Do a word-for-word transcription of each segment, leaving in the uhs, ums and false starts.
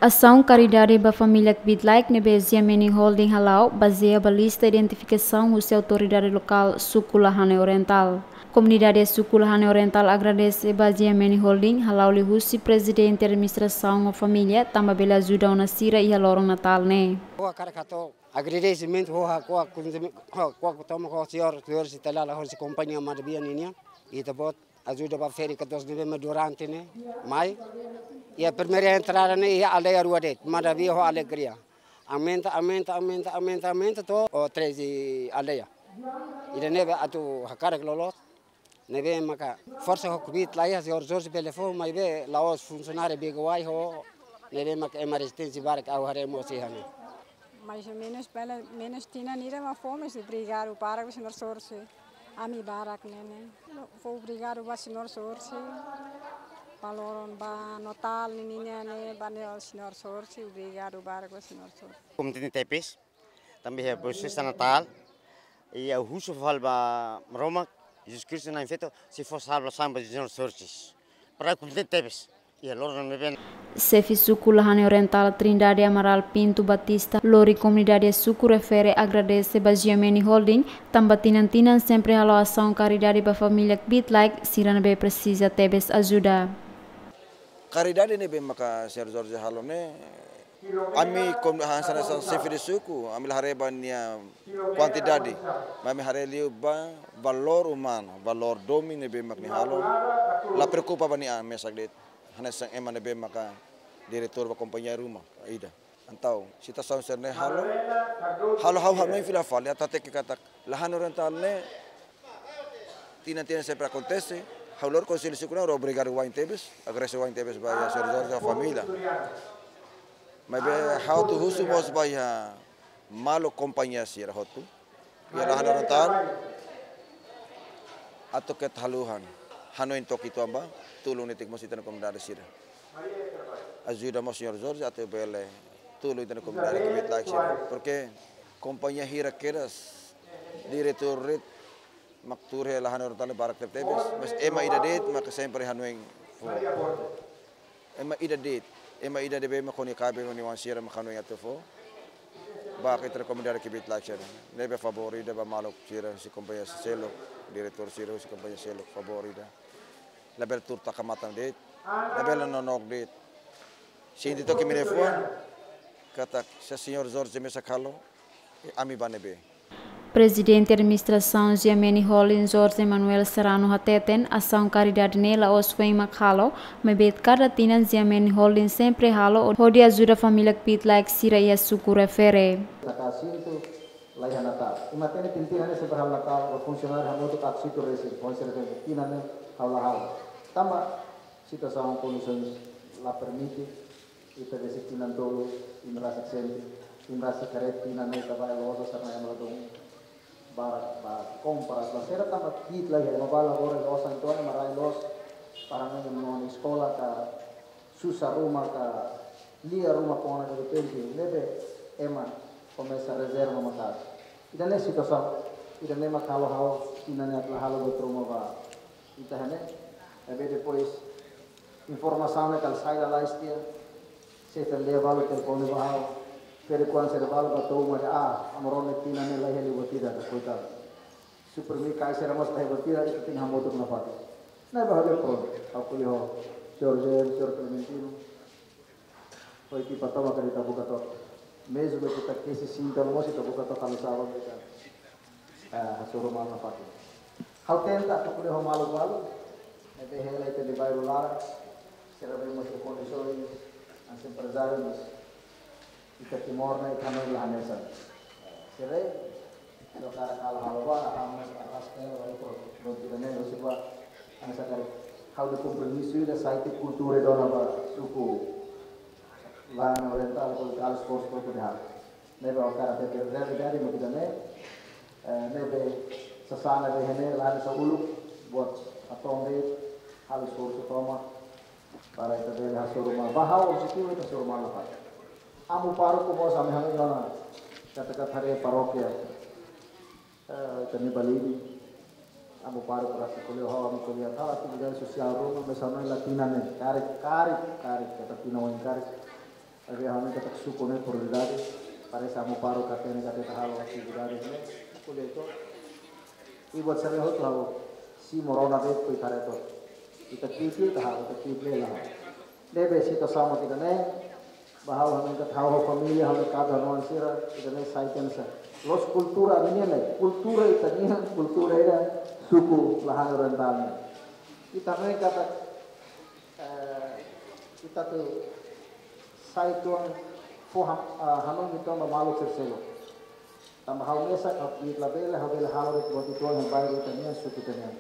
Asaun karidade ba família kbiit-laek ne'ebé Ziameni Holding hala'o bazeia ba lista identifikasaun husi autoridade lokál suku Lahane Orientál. Komunidade suku Lahane Orientál agradese ba Ziameni Holding hala'o liuhusi prezidente administrasaun ho família tanba bele ajuda ona sira iha loron Natál ne'e. Agradesimentu ho ha'u-nia, ho, ho, ho, toma ho señór, señór Sitalala, ho si kompañia Madabia ninia. Ita-boot ajuda ba férias ka dos ne'ebé mak durante ne'e mai. Iha primeira entrada ne'e iha aldeia rua de'it, Madabia ho Alegria. Aumenta, aumenta, aumenta, aumenta, aumenta to'o treze aldeia. Ida-ne'e atu hakarak loloos. Ne'ebé maka forsa ho kbiit-laek, señór Jorge bele fó, maibé la'ós funsionáriu bigawai ho, ne'ebé maka ema rezisténsia barak ha'u haree mós iha ne'e. Mais ou menus, pelo menus tinan ida mak fó, mais obrigadu barak ba señór Jorge. Ami barak ne'e ne'e. Fó obrigadu ba señór Jorge. Ba loron ba Natál ninia ne'e, ba ne'e señór Jorge, obrigadu barak ba señór Jorge. Kontente tebes. Tanba iha presiza Natál, i ha'u husu fali ba Maromak, Jesus Kristu na'in-feto, sei fó salvasaun ba Señór Jorge. Para kontente tebes, iha loron ne'ebé. Xefe suku Lahane Orientál Trindade Amaral Pinto Batista lori komunidade suku refere agradese ba Ziameni Holding, tanba tinan-tinan sempre halo asaun karidade ba família kbiit-laek sira ne'ebé presiza tebes ajuda. Karidade ne'ebé maka señór Jorge halo ne'e, ami komu hanesan, hanesan xefe de suku, ami la haree ba nia kuantidade, mas ami haree liu ba valór umanu, valór domin ne'ebé mak nia halo, la preokupa ba nia an mesak de'it, hanesan ema ne'ebé maka diretór ba kompañia ruma ida. Entaun, situasaun sira-ne'e halo, halo ha'u hanoin fila fali, atu hateke katak Lahane Orientál ne'e, tinan-tinan sempre akontese, ha'u lori konsellu suku ne'e, ha'u obrigadu wa'in tebes, agradese wa'in tebes ba iha señór Jorge ho família. Maibé ha'u atu husu mós ba iha maluk kompañia sira hotu iha Lahane Orientál, atu keta haluha hanoin to'o uitoan ba, tulun netik mós ita-nia komunidade sira. Ajuda mós señór Jorge atu bele tulun ita-nia komunidade kbiit-laek sira. Porke kompañia hira kedas, diretór de'it mak tuur iha Lahane Orientál barak tebetebes, mas ema ida de'it maka sempre hanoin fó. Ema ida de'it, ema ida de'it mak ho nia kaben, ho nia oan sira mak hanoin atu fó. Ba ita-nia komunidade kbiit-laek sira. Ne'ebé favór ida ba maluk sira husi kompañia seluk, diretór sira husi kompañia seluk, favór ida. Labele tuur taka matan de'it, labele nonook de'it. Sente took imi-nia fuan, katak se señór Jorge mesak halo, ami ba ne'ebé. Prezidente Administrasaun Ziameni Holding Jorge Manuel Serrano hateten, asaun karidade ne'e la'ós foin mak halo, maibé kada tinan Ziameni Holding sempre halo, hodi ajuda família kbiit-laek sira iha suku refere. Taka sintu, la iha Natál. I matenek tinan-tinan ne'e sempre halo Natál, ba funsionáriu hamutuk aat sintu resin, foin sira sempre tinan ne'e ha'u la halo. Tanba situasaun kondisaun la permite, ita besik tinan tolu, imi rasik sente, imi rasik haree tinan ne'e ita bá iha loja, sira-ne'e ema ladún barak bá kompras, bá sira tanba kbiit-laek iha, ema bá labora iha osan, entaun ema rai loos, para ne'e ema-nia oan eskola ka, susar ruma ka, lia ruma kona derrepente, ne'ebé ema komesa rezerva maka'as. Ida-ne'e situasaun, ida-ne'e mak halo ha'u tinan ne'e atu la halo buat ruma ba ita iha ne'e. Maibé depois informasaun ne'e kala sai lalais tiha, xefe aldeia balu telefone ba ha'u, ferik-oan sira balu bá to'o uma dehan, ah, Amarone tinan ne'e la iha liu buat ida, koitadu. Suprimir kai sira mós la iha buat ida, ita tenke hamutuk nafatin. Ne'ebé ha'u dehan prontu, ha'u ko'alia ho señór Jem, señór Clementino. Ho ekipa tomak ita buka took. Mezmu ita kesi sinta mós ita buka took, halo sá ba ita, eh, hasoru malu nafatin. Ha'u tenta atu ko'alia ho maluk balu ne'ebé hela ita-nia bairru laran, sira be mós iha kondisaun, hanesan emprezáriu, mas ita Timor ne'e ita hanoin la hanesan. Sira sira hakarak halo, halo bá, ha'u mós arraska hela ba ita, prontu, prontu ida-ne'e, husi ba, hanesan karik ha'u-nia kompromisu ida sai tiha kultura ida ona ba suku Lahane Orientál, hodi halo esforsu hotu de'it. Ne'ebé ha'u hakarak hatete realidade mak ida-ne'e, eh, ne'ebé sasán ne'ebé iha ne'e la hanesan uluk, buat hato'o de'it, halo esforsu tomak, para ita bele hasoru malu. Ba ha'u objetivu ita hasoru malu nafatin. Amu pároku mós ami hanoin ona, katak karik haree parókia, eh, ita-nia Balide. Amu pároku rasik ko'alia ho ha'u, ami ko'alia tau atividade sosiál ruma, mas ami la tinan ne'e, karik, karik, karik, katak tinan oin karik. Ne'ebé ha'u hanoin katak suku ne'e prioridade, parese amu paru katak ne'e katak halo atividade ne'e, ko'alia ito. I buat sira-ne'e hotu ha'u simu rona de'it, ko'alia katak ita tipi, ita ha'u, ita tipi la. Ne'ebé situasaun mak ida-ne'e, ba ha'u hanoin katak ha'u família, ha'u merkadu, ha'u-nia oan sira, ida-ne'e sai tensa. Loos kultura ami-nian, kultura ita-nian, kultura ida suku la han orientál. Ita hanoin katak, eh, ita atu sai tuan fó ham-, ah, hanoin ita ba maluk sira seluk. Tanba ha'u mesak, ha'u kbiit labele, ha'u bele halo de'it buat ituan iha bairru ita-nian, suku ita-nian.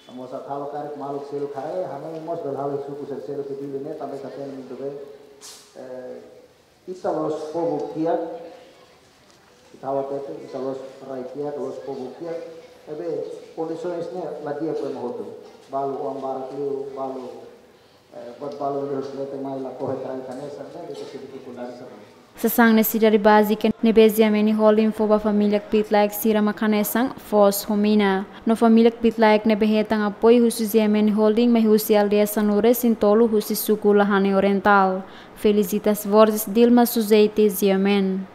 Tanba saat halo karik maluk seluk haree, hanoin mós bele halo suku sira seluk ke Dili ne'e, tanba ita hatene muito bem. Eh, ita loos povu kiak, ita hatete, ita loos rai kiak, loos povu kiak. Ne'ebé kondisoens ne'e la di'ak ba ema hotu. Balu oan barak liu, balu, eh, buat balu liu, sira-ne'e mai la kohe trai hanesan, ne'e ita sente difikuldade sira. Sasán ne'e sidade bázika ne'ebé Ziameni Holding fó ba família kbiit-laek sira mak hanesan foos ho mina. No família kbiit-laek ne'ebé hetan apoiu husi Ziameni Holding mai husi aldeia sanulu-resin-tolu husi suku Lahane Orientál. Felicitas Borges, Dilma Suzete, Ziamen.